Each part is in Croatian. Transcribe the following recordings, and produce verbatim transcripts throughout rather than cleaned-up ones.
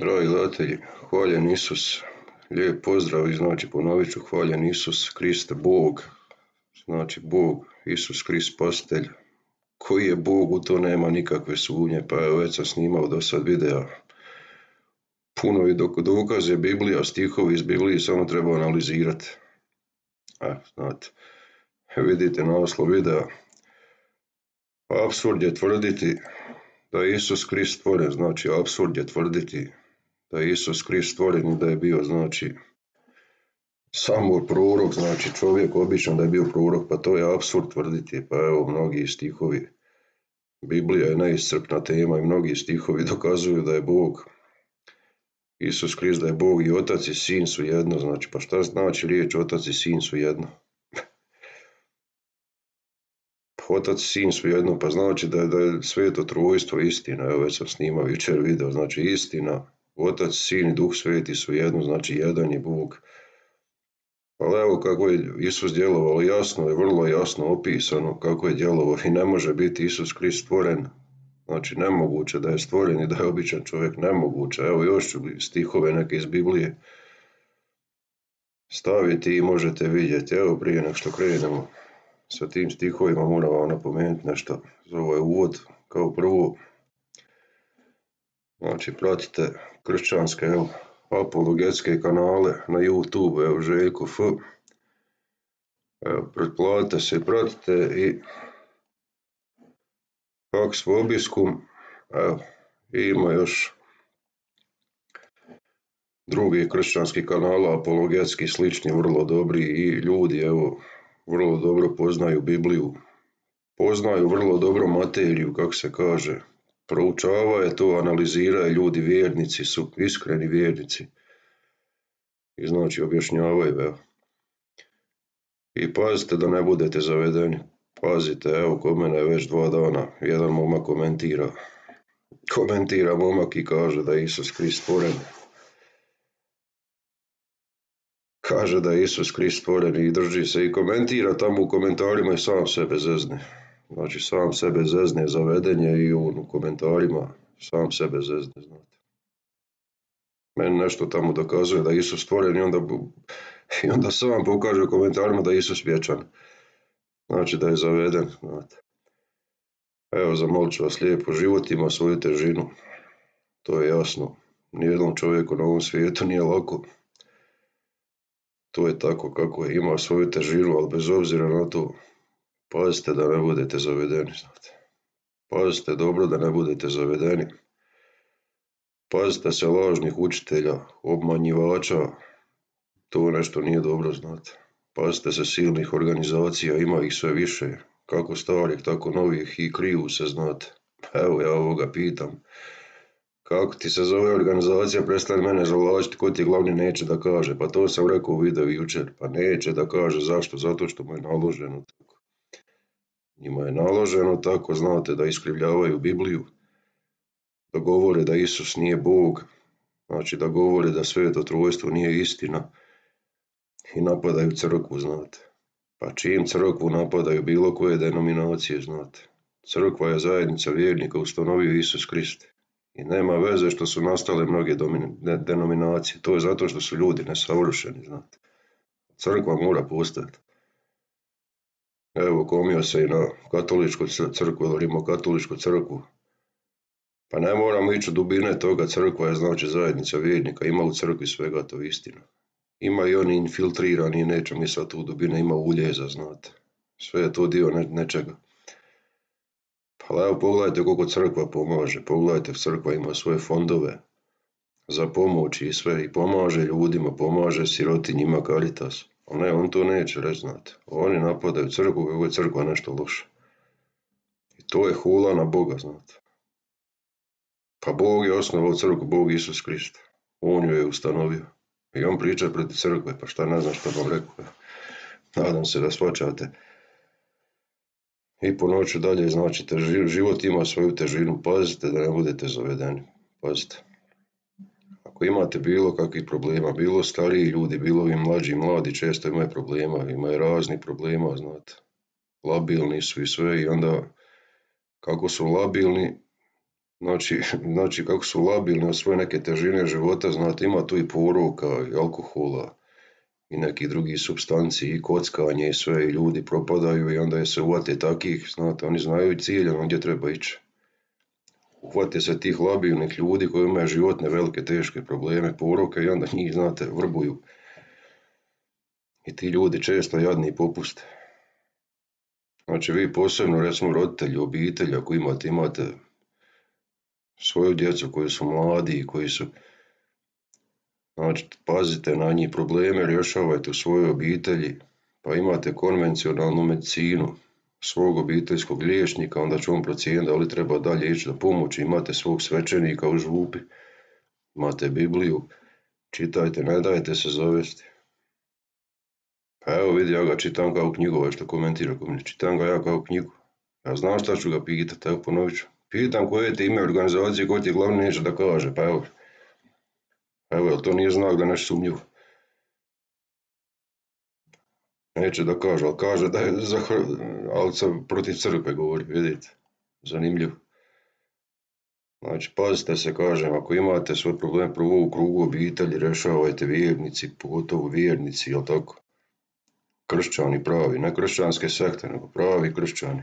Dragi gledatelji, hvaljen Isus, lijep pozdrav i znači ponovit ću hvaljen Isus Krist Bog, znači Bog, Isus Krist Spasitelj. Koji je Bog, u to nema nikakve sumnje, pa evo već sam snimao do sad videa. Puno i dokaze Biblija, stihovi iz Biblije samo treba analizirati. A, znate, vidite naslov videa. Apsurd je tvrditi da je Isus Krist stvoren, znači apsurd je tvrditi da je Isus Krist stvoren i da je bio, znači, samo prorok, znači čovjek običan da je bio prorok, pa to je apsurd tvrditi, pa evo mnogi stihovi. Biblija je neiscrpna tema i mnogi stihovi dokazuju da je Bog, Isus Krist da je Bog i Otac i Sin su jedno, znači pa šta znači riječ Otac i Sin su jedno? Otac i Sin su jedno, pa znači da je, da je sveto trojstvo istina, evo već sam snimao jučer video, znači istina, Otac, Sin i Duh Sveti su jedno, znači jedan je Bog. Ali evo kako je Isus djelovao, jasno je, vrlo jasno opisano kako je djelovao i ne može biti Isus Krist stvoren, znači nemoguće da je stvoren i da je običan čovjek, nemoguće. Evo još ću stihove neke iz Biblije staviti i možete vidjeti. Evo prije nego što krenemo sa tim stihovima moram vam napomenuti nešto za ovaj uvod. Kao prvo, znači pratite kršćanske, evo, apologetske kanale na YouTube, evo Željko F. Evo, pretplatite se i pratite i Pax Vobiscum, evo, i ima još drugi kršćanski kanala, apologetski, slični, vrlo dobri i ljudi, evo, vrlo dobro poznaju Bibliju, poznaju vrlo dobro materiju, kako se kaže, proučavaju to, analiziraju ljudi, vjernici su, iskreni vjernici i znači objašnjavaju, evo. I pazite da ne budete zavedeni, pazite, evo kod mene je već dva dana, jedan momak komentira, komentira momak i kaže da je Isus Krist stvoren. Kaže da je Isus Krist stvoren i drži se i komentira tamo u komentarima i sam sebe zezne. Znači sam sebe zezne, zavedenje i u komentarima sam sebe zezne, znate. Meni nešto tamo dokazuje da je Isus stvoren i onda, i onda sam pokaže u komentarima da je Isus vječan. Znači da je zaveden, znate. Evo, zamolit ću vas lijepo, život ima svoju težinu, to je jasno. Nijednom čovjeku na ovom svijetu nije lako. To je tako kako je, ima svoju težinu, ali bez obzira na to, pazite da ne budete zavedeni, znate. Pazite dobro da ne budete zavedeni. Pazite se lažnih učitelja, obmanjivača, to nešto nije dobro, znate. Pazite se silnih organizacija, ima ih sve više, kako starih, tako novih i kriju se, znate. Evo ja ovoga pitam, kako ti se zove organizacija, prestani mene zavlačiti, ko ti glavni neće da kaže, pa to sam rekao u videu jučer, pa neće da kaže, zašto? Zato što mu je naloženo tako. Njima je naloženo tako, znate, da iskrivljavaju Bibliju, da govore da Isus nije Bog, znači da govore da sveto trojstvo nije istina i napadaju crkvu, znate. Pa čim crkvu napadaju bilo koje denominacije, znate. Crkva je zajednica vjernika, ustanovio Isus Krist. I nema veze što su nastale mnoge denominacije, to je zato što su ljudi nesavršeni, znate. Crkva mora postojati. Evo, komio se i na katoličku crkvu ili rimokatoličku crkvu. Pa ne moramo ići u dubine toga, crkva je znači zajednica vjernika, ima u crkvi svega, to je istina. Ima i oni infiltrirani i neće mi sad u dubine, ima uljeza, znate. Sve je to dio ne, nečega. Pa evo pogledajte koliko crkva pomaže, pogledajte crkva ima svoje fondove za pomoć i sve i pomaže ljudima, pomaže sirotinjima, Caritas. A ne, on to neće reći, znate. Oni napadaju crkvu kako je crkva nešto loše. I to je hula na Boga, znate. Pa Bog je osnovao crkvu, Bog Isus Krist. On ju je ustanovio. I on priča protiv crkve, pa šta ne znam što vam rekao. Nadam se da shvaćate. I ponovit ću dalje, znači život ima svoju težinu, pazite da ne budete zavedeni, pazite. Ako imate bilo kakvih problema, bilo stariji ljudi, bilo i mlađi, mladi često imaju problema, imaju raznih problema, znate. Labilni su i sve i onda kako su labilni, Znači, znači kako su labilni od svoje neke težine života, znate, ima tu i poroka, i alkohola, i nekih drugih supstanci, i kockanje, i sve, i ljudi propadaju i onda je se uvate takih, znate, oni znaju i ciljano gdje treba ići. Uhvate se tih labilnih ljudi koji imaju životne velike teške probleme, poroke i onda njih, znate, vrbuju. I ti ljudi često jadni popuste. Znači vi posebno, recimo roditelji, obitelji, ako imate, imate svoju djecu koji su mladi i koji su, znači pazite na njih, probleme rješavajte u svojoj obitelji, pa imate konvencionalnu medicinu svog obiteljskog liječnika, onda će on procijeniti da li treba dalje ići do pomoći, imate svog svećenika u župi, imate Bibliju, čitajte, ne dajte se zavesti. Pa evo vidi, ja ga čitam kao knjigu, ovaj što komentira ko mene, čitam ga ja kao knjigu. Ja znam šta ću ga pitati, evo ponovit ću. Pitam koje ti ime organizacije, ko ti glavni neće da kaže, pa evo. Evo, jel to nije znak da nešto sumnjivo? Neće da kaže, ali kaže da je za, ali sam protiv crkve govori, vidite. Zanimljivo. Znači, pazite se, kažem, ako imate svoj problem prvo u krugu obitelji, rješavajte vjernici, pogotovo vjernici, jel tako? Kršćani pravi, ne kršćanske sekte, nego pravi kršćani.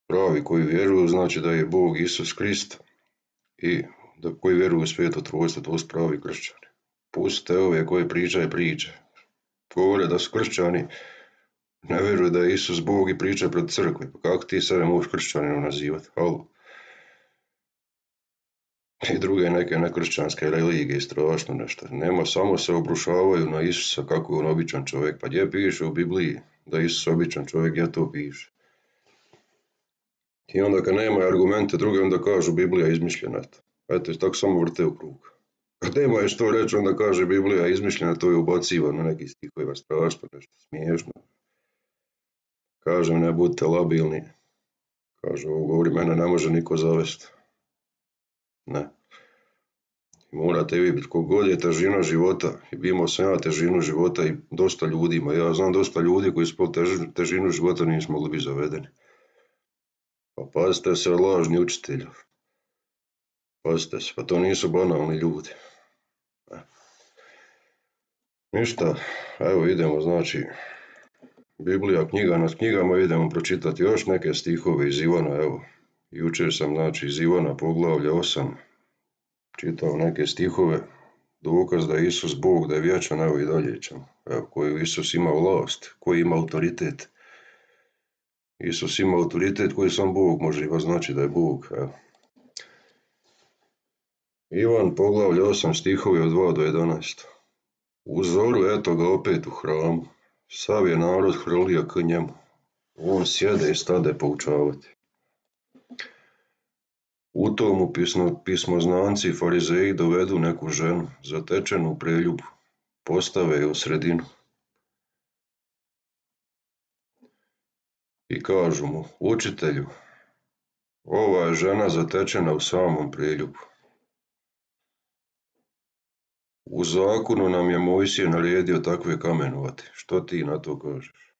Pravi koji vjeruju, znači da je Bog Isus Krist i da koji vjeruju u sveto trojstvo, to su pravi kršćani. Pustite ove koji pričaju priče. Govore da su kršćani, ne vjeruju da je Isus Bog i pričaju pred crkve. Pa kako ti sebe možeš kršćaninom nazivati? Halo. I druge neke nekršćanske religije, strašno nešto. Nema, samo se obrušavaju na Isusa kako je on običan čovjek. Pa gdje piše u Bibliji da je Isus običan čovjek, gdje to piše? I onda kad nema argumente druge, onda kažu Biblija je izmišljena. Eto, tako samo vrte u krug. Kad nema je što reći, onda kaže Biblija je izmišljena, to je ubaciva na neki stihovima, strašno, nešto smiješno. Kažem, ne budite labilni. Kaže, ovo govori, mene ne može niko zavesti. Ne. I morate vi biti, kogod je težina života, i imao sam ja težinu života i dosta ljudima. Ja znam dosta ljudi koji su po težinu života nisu mogli biti zavedeni. Pa pazite se od lažni učitelja. Pazite se, pa to nisu banalni ljudi. Ne. Ništa, evo idemo, znači, Biblija, knjiga nad knjigama, idemo pročitati još neke stihove iz Ivana, evo. Jučer sam, znači, iz Ivana poglavlja osam čitao neke stihove, dokaz da je Isus Bog, da je vječan, evo i dalje ćemo. Evo, koji Isus ima vlast, koji ima autoritet. Isus ima autoritet koji sam Bog, može i znači da je Bog, evo. Ivan poglavlja osam stihovi od dva do jedanaest. U zoru eto ga opet u hramu, sav je narod hrlio k njemu. On sjede i stade poučavati. U tomu pismo, pismoznanci i farizeji dovedu neku ženu, zatečenu u preljubu, postave je u sredinu. I kažu mu, učitelju, ova je žena zatečena u samom preljubu. U zakonu nam je Mojsije naredio takve kamenovati. Što ti na to kažeš?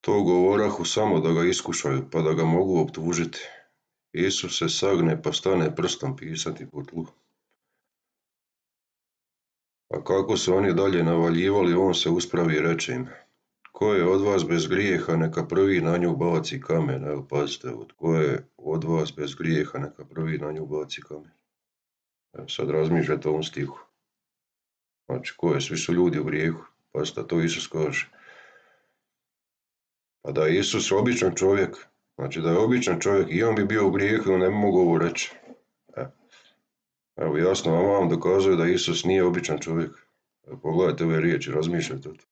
To govorahu samo da ga iskušaju, pa da ga mogu optužiti. Isus se sagne pa stane prstom pisati po tlu. A kako se oni dalje navaljivali, on se uspravi i reče im, ko je od vas bez grijeha, neka prvi na nju baci kamen. Evo, pazite, ko je od vas bez grijeha, neka prvi na nju baci kamen. Evo, sad razmišljate o ovom stihu. Znači, ko je, svi su ljudi u grijehu. Pazite, to Isus kaže. Pa da je Isus običan čovjek, znači da je običan čovjek i on bi bio u grijehu i on ne bi mogao ovo reći. Evo, jasno vam vam dokazuje da Isus nije običan čovjek. Evo, pogledajte ove riječi, razmišljajte o to.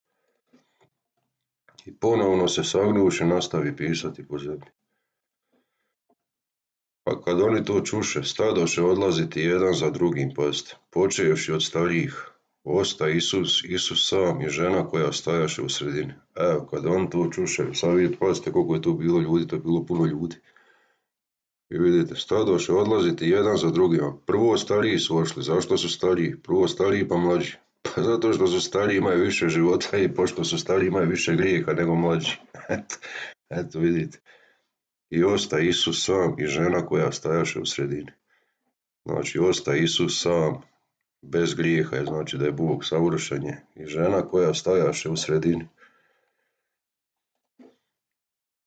I ponovno se sagnuši nastavi pisati po zemlji. Pa kad oni to čuše, stadoše odlaziti jedan za drugim, pazite, počevši od starijih. Osta Isus, Isus sam i žena koja stajaše u sredini. Evo, kad on to čuše, sad vidite, pazite koliko je tu bilo ljudi, to je bilo puno ljudi. I vidite, stadoše odlaziti jedan za drugima. Prvo stariji su ošli, zašto su stariji? Prvo stariji pa mlađi. Pa zato što su stariji imaju više života i pošto su stariji imaju više grijeha nego mlađi. Eto, eto vidite. i osta Isus sam i žena koja stajaše u sredini. Znači, osta Isus sam, bez grijeha, je znači da je Bog savršen je, i žena koja stajaše u sredini.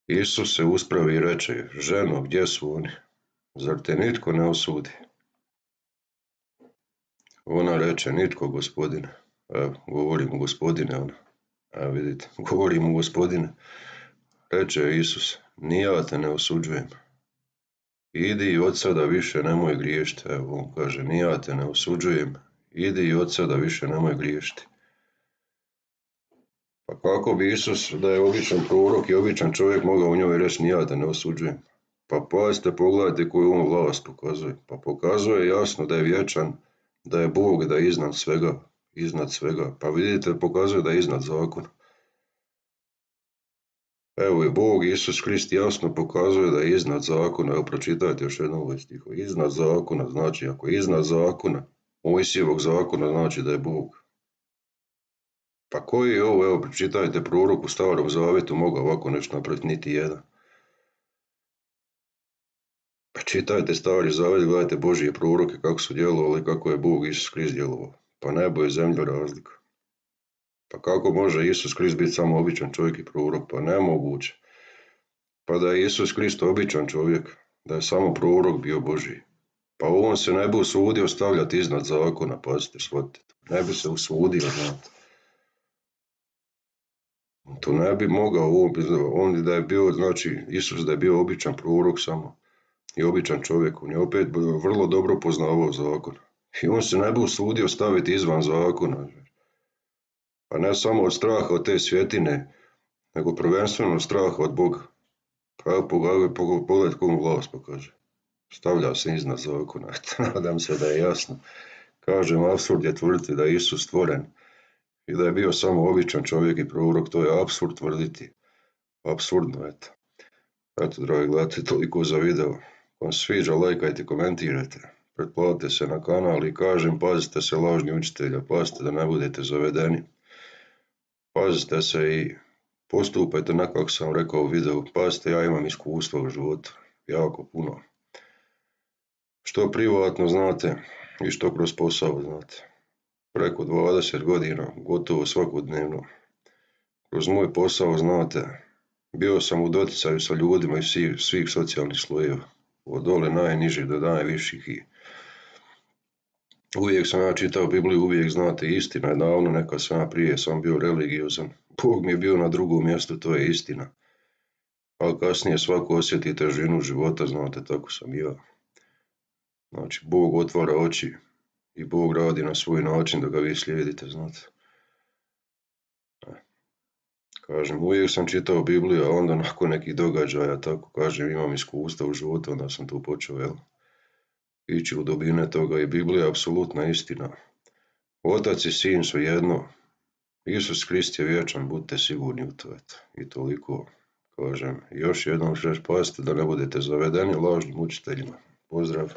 Isus se uspravi i reče, ženo, gdje su oni? Zar te nitko ne osudi? Ona reče, nitko, gospodine. Evo, govorim gospodine, ona. Evo vidite, govorim gospodine. Reče Isus, ni ja te ne osuđujem. Idi i od sada više nemoj griješiti. Evo, on kaže, ni ja te ne osuđujem. Idi i od sada više nemoj griješiti. Pa kako bi Isus, da je običan prorok i običan čovjek, mogao u njoj reći, ni ja te ne osuđujem? Pa pazite, pogledajte koju on vlast pokazuje. Pa pokazuje jasno da je vječan, da je Bog, da je iznad svega. Iznad svega. Pa vidite, pokazuje da je iznad zakona. Evo je Bog, Isus Krist jasno pokazuje da je iznad zakona. Evo pročitajte još jednom ovaj stih. Iznad zakona znači, ako je iznad zakona, Mojsijevog zakona, znači da je Bog. Pa koji je ovo, evo pročitajte, prorok u Starom Zavetu mogao ovako nešto napraviti? Niti jedan. Pa čitajte Stari Zavet, gledajte Božje proroke kako su djelovali, kako je Bog Isus Krist djelovao. Pa nebo i zemlja razlika. Pa kako može Isus Krist biti samo običan čovjek i prorok? Pa nemoguće. Pa da je Isus Krist običan čovjek, da je samo prorok bio Božji, pa on se ne bi usudio stavljati iznad zakona, pazite, shvatite. Ne bi se usudio, znate. To ne bi mogao, on da je bio, znači, Isus da je bio običan prorok samo i običan čovjek, on je opet vrlo dobro poznavao zakon. I on se ne bi usudio staviti izvan zakona. Pa ne samo od straha od te svjetine, nego prvenstveno od straha od Boga. Pa evo pogledajte komu vlast pokaže. Stavlja se iznad zakona. Nadam se da je jasno. Kažem, apsurd je tvrditi da je Isus stvoren i da je bio samo običan čovjek i prorok. To je apsurd tvrditi. Apsurdno, eto. Eto, dragi gledatelji, toliko za video. Ako vam se sviđa, lajkajte, komentirajte. Pretplatite se na kanal i kažem, pazite se lažni učitelja, pazite da ne budete zavedeni. Pazite se i postupajte onako kako sam rekao u videu. Pazite, ja imam iskustva u životu, jako puno. Što privatno znate i što kroz posao znate. Preko dvadeset godina, gotovo svakodnevno. Kroz moj posao znate, bio sam u doticaju sa ljudima iz svih, svih socijalnih slojeva. Od dole najnižih do najviših i uvijek sam ja čitao Bibliju, uvijek znate, istina je davno, neka sam ja prije sam bio religiozan. Bog mi je bio na drugom mjestu, to je istina. Ali kasnije svako osjeti težinu života, znate, tako sam i ja. Znači, Bog otvara oči i Bog radi na svoj način da ga vi slijedite, znate. Kažem, uvijek sam čitao Bibliju, a onda nakon nekih događaja, tako kažem, imam iskustva u životu, onda sam tu počeo, jel, ići u dubine toga i Biblija je apsolutna istina. Otac i sin su jedno, Isus Krist je vječan, budite sigurni u to, eto. I toliko, kažem, još jednom ću reći, pazite da ne budete zavedeni lažnim učiteljima. Pozdrav!